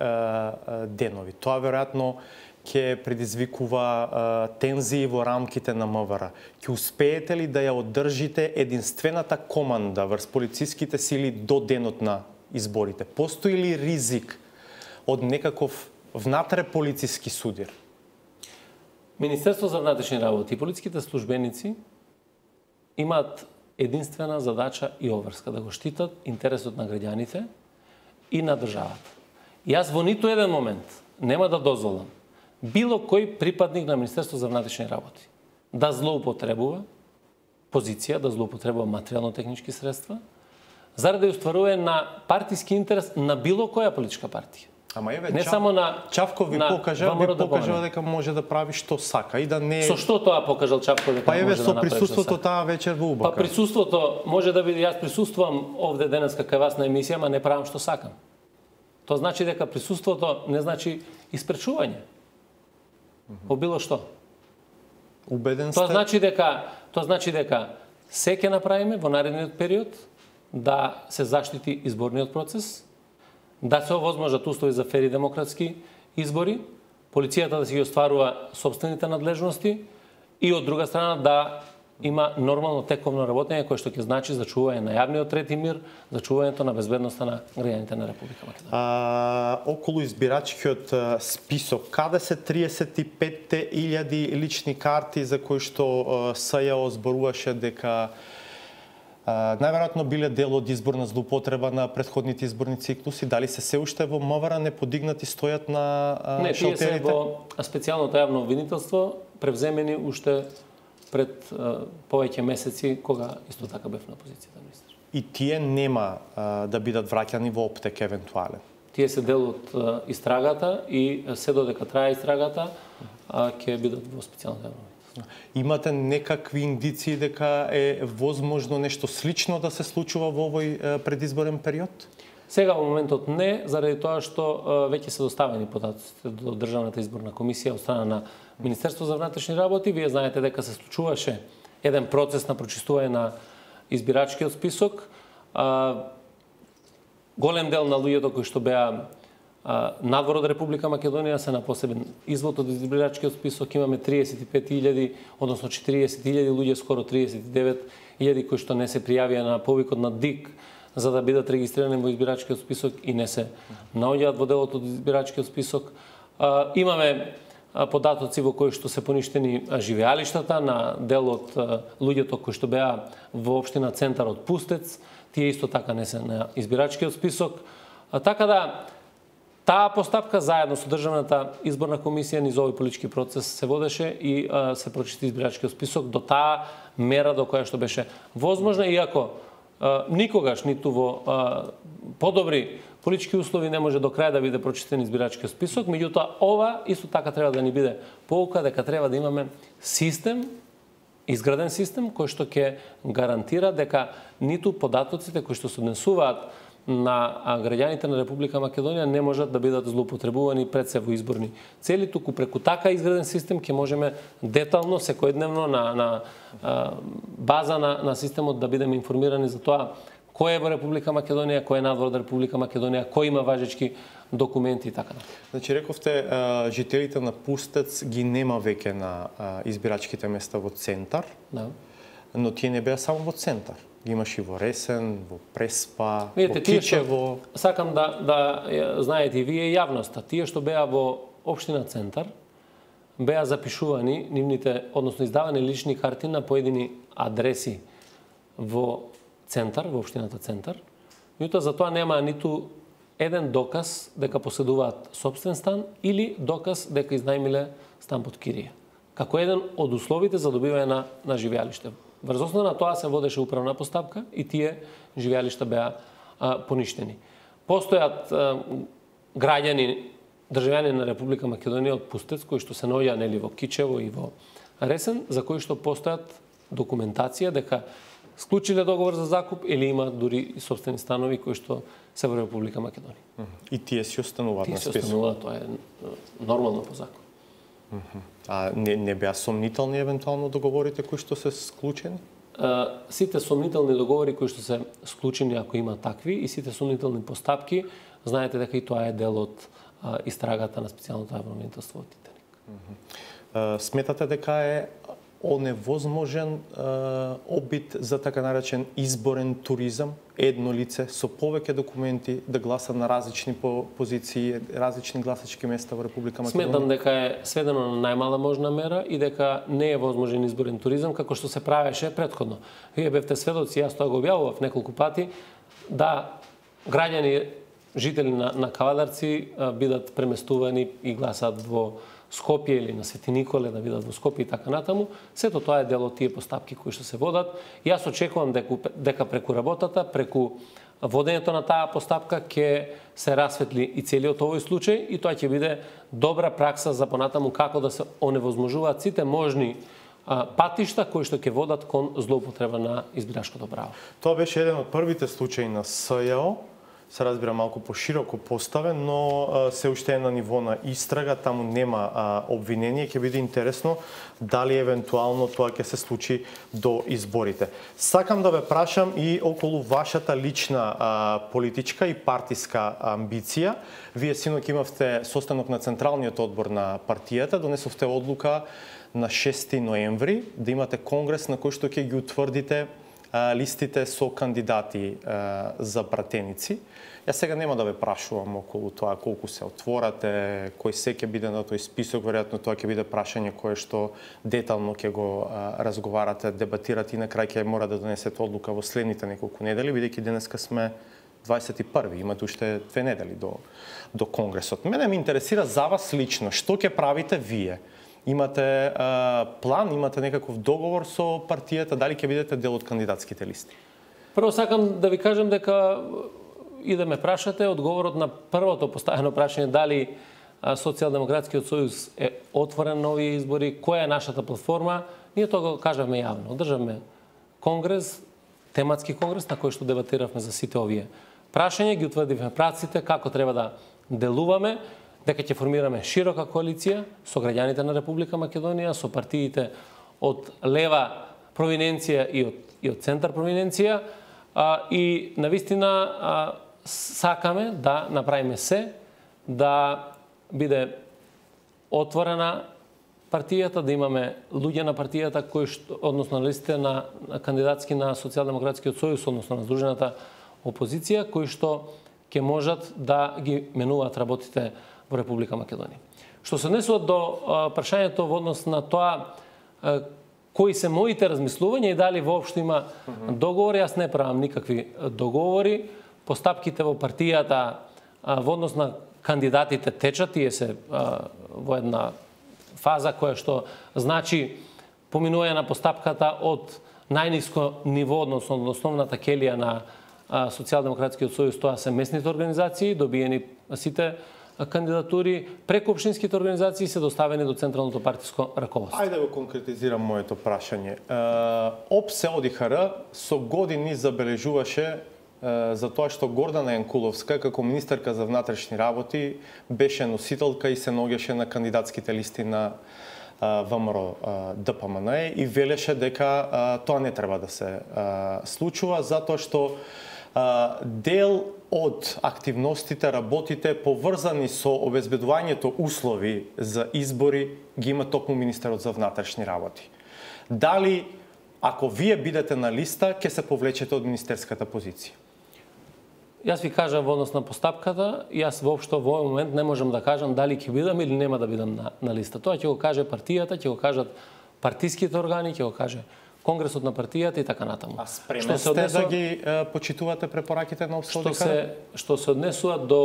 денови. Тоа веројатно ќе предизвикува тензии во рамките на МВР. Ќе успеете ли да ја одржите единствената команда врз полициските сили до денот на изборите? Постои ли ризик од некаков внатре полициски судир? Министерство за внатрешни работи и полициските службеници имаат единствена задача и обврска да го штитат интересот на граѓаните и на државата. Јас во ниту еден момент нема да дозволам било кој припадник на Министерство за внатрешни работи да злоупотребува позиција, да злоупотребува материјално-технички средства, заради устварување на партиски интерес на било која политичка партија. Ама еве, не само на Чавков ви покажа дека може да прави што сака и да не. Со што тоа покажал Чавков дека може да направи? Па еве со присуството таа вечер во УБК. Па присуството може да биде, јас присуствувам овде денеска кај вас на емисија, ама не правам што сакам. Тоа значи дека присуството не значи испречување. Во било што. Убеден сте? Тоа значи дека се ќе направиме во наредниот период да се заштити изборниот процес, да се овозможат услови за фер и демократски избори, полицијата да си ги остварува собствените надлежности и од друга страна да има нормално тековно работење кое што ќе значи зачување на јавниот ред и мир, зачувањето на безбедноста на граѓаните на Република Македонија. Околу избирачкиот список, каде се 35.000 лични карти за кои што СЈО зборуваше дека најверојатно биле дел од изборна злоупотреба на претходните изборни циклуси, дали се уште во МВР не подигнати стојат на шалтерите? Не, тие се во специјалното јавно обвинителство, превземени уште пред повеќе месеци кога исто така бев на позицијата министер. И тие нема да бидат враќани во оптек евентуален. Тие се дел од истрагата и се додека трае истрагата, ќе бидат во специјалната јавна. Имате некакви индиции дека е возможно нешто слично да се случува во овој предизборен период? Сега во моментот не, заради тоа што веќе се доставени податоците до Државната изборна комисија од страна на Министерство за внатрешни работи. Вие знаете дека се случуваше еден процес на прочистување на избирачкиот список. Голем дел на луѓето кои што беа надвор од Република Македонија се на посебен извод од избирачкиот список. Имаме 35.000, односно 40.000 луѓе, скоро 39.000 кои што не се пријавија на повикот на ДИК за да бидат регистрирани во избирачкиот список и не се наоѓаат во делот од избирачкиот список. Имаме податоци во кои што се поништени живеалиштата на дел од луѓето кои што беа во општина Центар од Пустец. Тие исто така не се на избирачкиот список. Така да, таа постапка заедно со Државната изборна комисија низ овој политички процес се водеше и се прочисти избирачкиот список до таа мера до која што беше возможна, иако никогаш ниту во подобри политички услови не може до крај да биде прочистен избирачкиот список, меѓутоа ова исто така треба да ни биде поука дека треба да имаме систем, изграден систем кој што ќе гарантира дека ниту податоците кои што се однесуваат на граѓаните на Република Македонија не можат да бидат злоупотребувани пред се во изборни цели, туку преку така изграден систем ќе можеме детално, секојдневно на база на системот да бидеме информирани за тоа кој е во Република Македонија, кој е надвор од Република Македонија, кој има важечки документи и така. Значи рековте жителите на Пустец ги нема веќе на избирачките места во Центар. Да. Но тие не беа само во Центар. Имаш и во Ресен, во Преспа, видите, во Кичево. Сакам да знаете и вие јавноста, тие што беа во општина Центар беа запишувани нивните, односно издавани лични карти на поедини адреси во Центар, во општината Центар. Меѓутоа за тоа нема ниту еден доказ дека поседуваат сопствен стан или доказ дека изнајмиле стан под кирија. Како еден од условите за добивање на живеалиште. Врз основа на тоа се водеше управна постапка и тие живеалишта беа поништени. Постојат граѓани, државјани на Република Македонија од Пустец кои што се наоѓаат нели во Кичево и во Ресен, за кои што постојат документација дека склучиле договор за закуп или има дури и собствени станови кои што се во Република Македонија. И тие си остануваат на список. Тие си остануваат, тоа е нормално по закон. А не беа сомнителни евентуално договорите кои што се склучени? Сите сомнителни договори кои што се склучени, ако има такви, и сите сомнителни постапки, знаете дека и тоа е дел од истрагата на специјалното јавно обвинителство од Титаник. Сметате дека е оневозможен обид за така наречен изборен туризам, едно лице со повеќе документи да гласа на различни позиции, различни гласачки места во Република Македонија? Сметам дека е сведено на најмала можна мера и дека не е возможен изборен туризам како што се правеше претходно. Вие бевте сведоци, јас тоа го објавував неколку пати, да граѓани, жители на Кавадарци бидат преместувани и гласаат во Скопје или на Свети Николе, да бидат во Скопје и така натаму. Сето тоа е дел од тие постапки кои што се водат. Јас очекувам дека преку работата, преку водењето на таа постапка ќе се расветли и целиот овој случај и тоа ќе биде добра пракса за понатаму како да се оневозможуваат сите можни патишта кои што ќе водат кон злоупотреба на избирачкото право. Тоа беше еден од првите случаи на СЈО, се разбира малку пошироко поставен, но се уште е на ниво на истрага, таму нема обвинение, ќе биде интересно дали евентуално тоа ќе се случи до изборите. Сакам да ве прашам и околу вашата лична политичка и партиска амбиција. Вие синоќ имавте состанок на Централниот одбор на партијата, донесовте одлука на 6 ноември да имате конгрес на кој што ќе ги утврдите листите со кандидати за пратеници. Јас сега нема да ве прашувам околу тоа колку се отворате, кој се ќе биде на тој список, веројатно тоа ќе биде прашање кое што детално ќе го разговарате, дебатирате и на крај ќе мора да донесете одлука во следните неколку недели, бидејќи денеска сме 21. Имате уште 2 недели до конгресот. Мене ме интересира за вас лично, што ќе правите вие Имате план, имате некаков договор со партијата, дали ќе бидете дел од кандидатските листи? Прво сакам да ви кажем дека и да ме прашате, одговорот на првото поставено прашање дали Социјалдемократскиот сојуз е отворен на овие избори, која е нашата платформа, ние тоа го кажавме јавно. Одржавме конгрес, тематски конгрес на кој што дебатиравме за сите овие прашања, ги утврдивме праците како треба да делуваме, дека ќе формираме широка коалиција со граѓаните на Република Македонија, со партиите од лева провиненција и од центар провиненција, и навистина сакаме да направиме се да биде отворена партијата, да имаме луѓе на партијата кои што, односно на листите на кандидатски на Социјалдемократскиот сојуз, односно на здружената опозиција, кои што ќе можат да ги менуваат работите во Република Македонија. Што се однесува до прашањето во однос на тоа кои се моите размислувања и дали воопшто има договори, јас не правам никакви договори. Постапките во партијата во однос на кандидатите течат, тие се во една фаза која што значи поминување на постапката од најниско ниво, односно од основната келија на Социјалдемократскиот сојуз, тоа се местните организации, добиени сите кандидатури, преку општинските организации се доставени до централното партиско раководство. Ајде да го конкретизирам моето прашање. ОПС ОДИХР со години забележуваше за тоа што Гордана Јанкуловска, како министерка за внатрешни работи, беше носителка и се наоѓаше на кандидатските листи на ВМРО ДПМН и велеше дека тоа не треба да се случува, затоа што дел од активностите, работите поврзани со обезбедувањето услови за избори ги има токму министерот за внатрешни работи. Дали, ако вие бидете на листа, ќе се повлечете од министерската позиција? Јас ви кажам во однос на постапката, јас воопшто во овој момент не можам да кажам дали ќе бидам или нема да бидам на листа. Тоа ќе го каже партијата, ќе го кажат партиските органи, ќе го каже конгресот на партијата и така натаму. А спремен сте да ги почитувате препораките на ОПС ОДИХР? Што се однесува до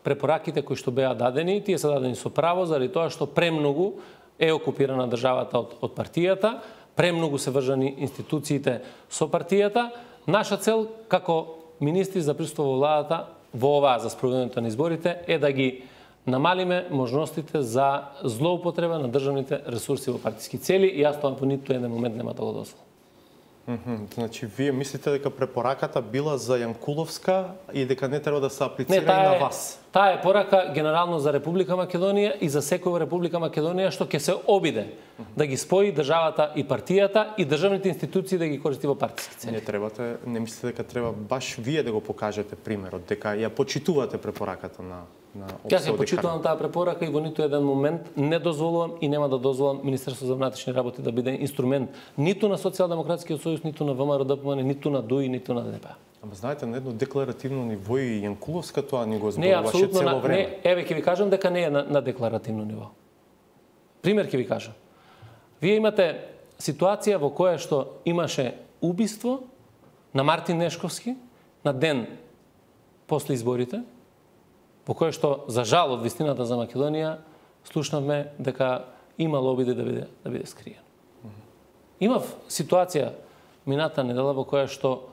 препораките кои што беа дадени, тие се дадени со право заради тоа што премногу е окупирана државата од партијата, премногу се врзани институциите со партијата. Наша цел како министри за присуство во владата во оваа за спроведувањето на изборите е да ги намалиме можностите за злоупотреба на државните ресурси во партиски цели и јас тоа по ниту еден момент нема да го дозволам. Значи, вие мислите дека препораката била за Јанкуловска и дека не треба да се аплицира и на вас? Таа е порака генерално за Република Македонија и за секој во Република Македонија што ќе се обиде да ги спои државата и партијата и државните институции да ги користи во партиски цели. Не мислите дека треба баш вие да го покажете примерот, дека ја почитувате препораката на Јас ја почитувам таа препорака и во ниту еден момент не дозволувам и нема да дозволам Министерството за внатрешни работи да биде инструмент ниту на Социјалдемократскиот сојуз, ниту на ВМРО ДПМН, ниту на ДУИ, ниту на ДП. Ама знаете, на едно декларативно ниво и Јанкуловска тоа ни го зборуваше цело време. Не, еве ќе ви кажам дека не е на декларативно ниво. Пример ќе ви кажам. Вие имате ситуација во која што имаше убиство на Мартин Нешковски на ден после изборите, по кој што, за жал од вистината за Македонија, слушнавме дека има обиди да биде скриен. Имав ситуација мината недела во која што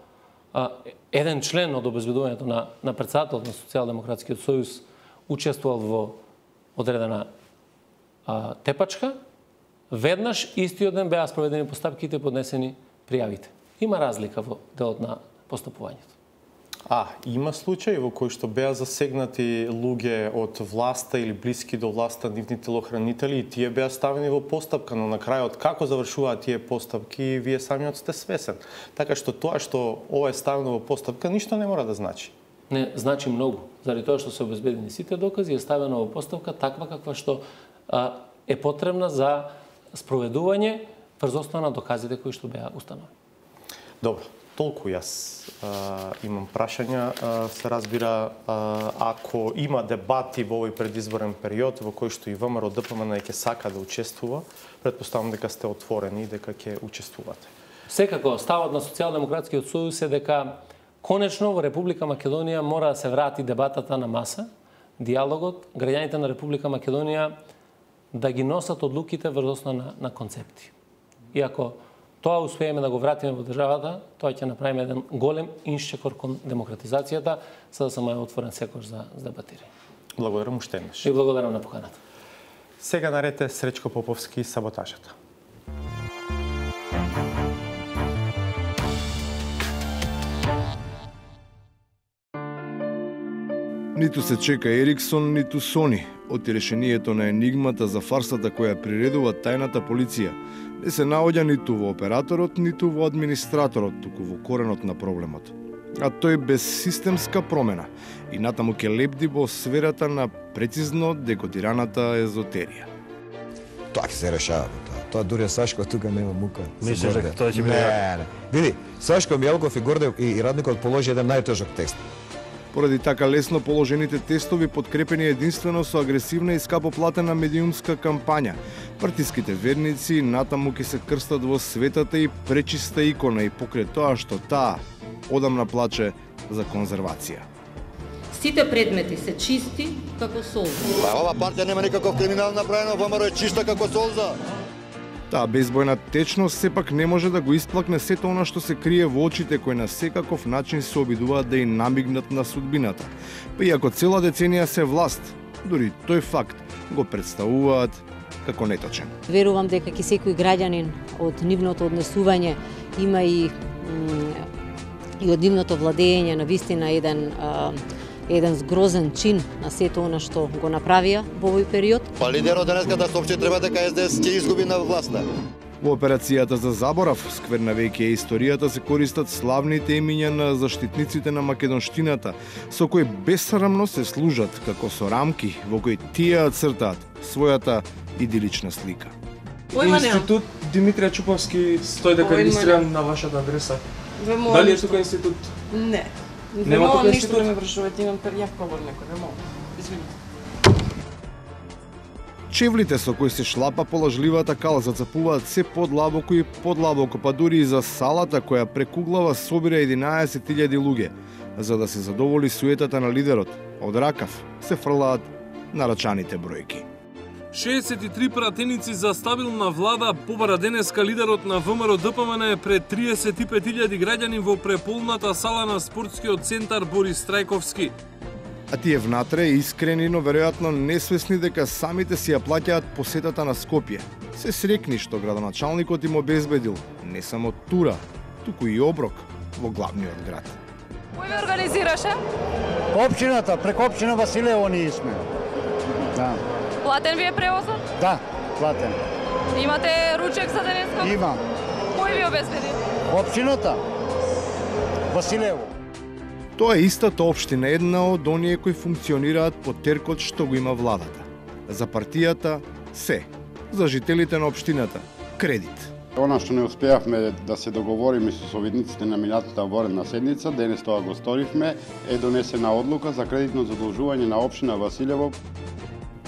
еден член од обезбедувањето на претседателот на Социјалдемократскиот сојуз учествувал во одредена тепачка, веднаш истиот ден беа спроведени постапките и поднесени пријавите. Има разлика во делот на постапувањето. Има случаи во кои што беа засегнати луѓе од власта или блиски до власта, нивни телохранители и тие беа ставени во постапка, но на крајот како завршуваат тие постапки, вие самиот сте свесен. Така што тоа што ова е ставено во постапка ништо не мора да значи. Не, значи многу. Заради тоа што се обезбедени сите докази е ставено во постапка таква каква што е потребна за спроведување врз основа на доказите кои што беа установени. Добро. Толку јас имам прашања. Се разбира, ако има дебати во овој предизборен период во кој што и ВМРО ДПМН ќе сака да учествува, претпоставам дека сте отворени и дека ќе учествувате. Секако, ставот на Социјалдемократскиот сојуз е дека конечно во Република Македонија мора да се врати дебатата на маса, диалогот. Граѓаните на Република Македонија да ги носат одлуките врз основа на концепти. И ако тоа успееме да го вратиме во државата, тоа ќе направиме еден голем иншчекор кон демократизацијата, за да само е отворен секој за дебатирање. Благодарам уште еднаш. И благодарам на поканата. Сега наред е Сречко Поповски, Саботажата. Ниту се чека Ериксон, ниту Сони. Од решението на енигмата за фарсата која приредува тајната полиција, не се наоѓа ниту во операторот, ниту во администраторот, туку во коренот на проблемот. А тој без системска промена и натаму ќе лепди во сферата на прецизно декодираната езотерија. Тоа ќе се решава. Тоа дури Сашко тука нема мука. Мислиш дека тоа ќе биде? Не. Види, Сашко Мјалков и Гордев и радникот положи еден најтежок текст. Поради така лесно положените тестови, подкрепени единствено со агресивна и скапо платена медиумска кампања, партиските верници натаму ќе се крстат во светата и пречиста икона и покрај тоа што таа одамна плаче за конзервација. Сите предмети се чисти како солза. Ова партија нема никаков криминал направено, ВМРО е чиста како солза. Таа безбојна течност сепак не може да го исплакне сето она што се крие во очите кои на секаков начин се обидуваат да и намигнат на судбината. Па иако цела деценија се власт, дури тој факт го представуваат како неточен. Верувам дека ќе секој граѓанин од нивното однесување има и од нивното владење на вистина еден згрозен чин на сето она што го направија во овој период. Па лидерот денеска да соопшти треба дека СДС ќе изгуби на власта. Во операцијата за заборав, сквернавејќи историјата, се користат славните имиња на заштитниците на македонштината, со кои бесрамно се служат како со рамки во кои тие цртаат својата идилична слика. Институт Димитрија Чуповски стои дека е регистриран на вашата адреса. Дали е тука институт? Не. Нема тука институт? Да ме вршувате, имам јак повод некој, нема. Извинете. Чевлите со кои се шлапа по лажливата кала зацапуваат се подлабоко и подлабоко, па дури и за салата која прекуглава собира 11.000 луѓе. За да се задоволи суетата на лидерот, од ракав се фрлаат нарачаните бројки. 63 пратеници за стабилна влада побара денеска лидерот на ВМРО ДПМН пред 35.000 граѓани во преполната сала на спортскиот центар Борис Трајковски. А тие внатре искрени, но веројатно несвесни дека самите си ја плаќаат посетата на Скопје. Се срекни што градоначалникот им обезбедил не само тура, туку и оброк во главниот град. Кој ве организираше? Општината, преку општина Василево ние сме. Да. Платен ви е превозот? Да, платен. Имате ручек за денеска? Имам. Кој ви обезбеди? Општината Василево. Тоа е истата општина, една од оние кои функционираат по теркот што го има владата. За партијата се, за жителите на општината кредит. Она што не успеавме да се договориме со советниците на минатата воредна седница, денес тоа го сторивме, е донесена одлука за кредитно задолжување на општина Василево.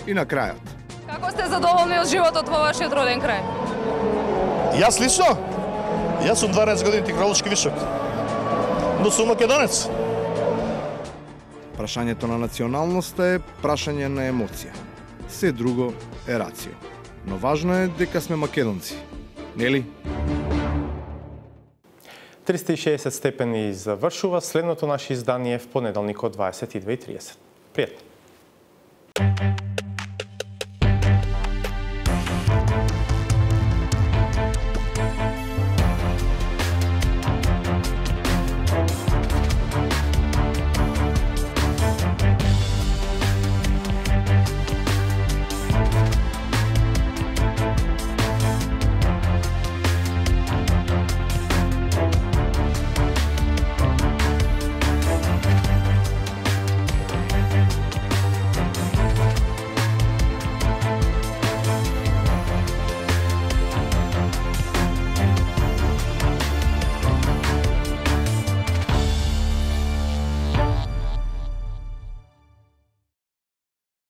И на крајот. Како сте задоволни од животот во вашиот роден крај? Јас лично? Јас сум 12 години технолошки вишок. Но сум македонец. Прашањето на националноста е прашање на емоција. Се друго е рацио. Но важно е дека сме македонци. Нели? 360 степени завршува. Следното наше издание в понеделник од 22:30. Пријатно!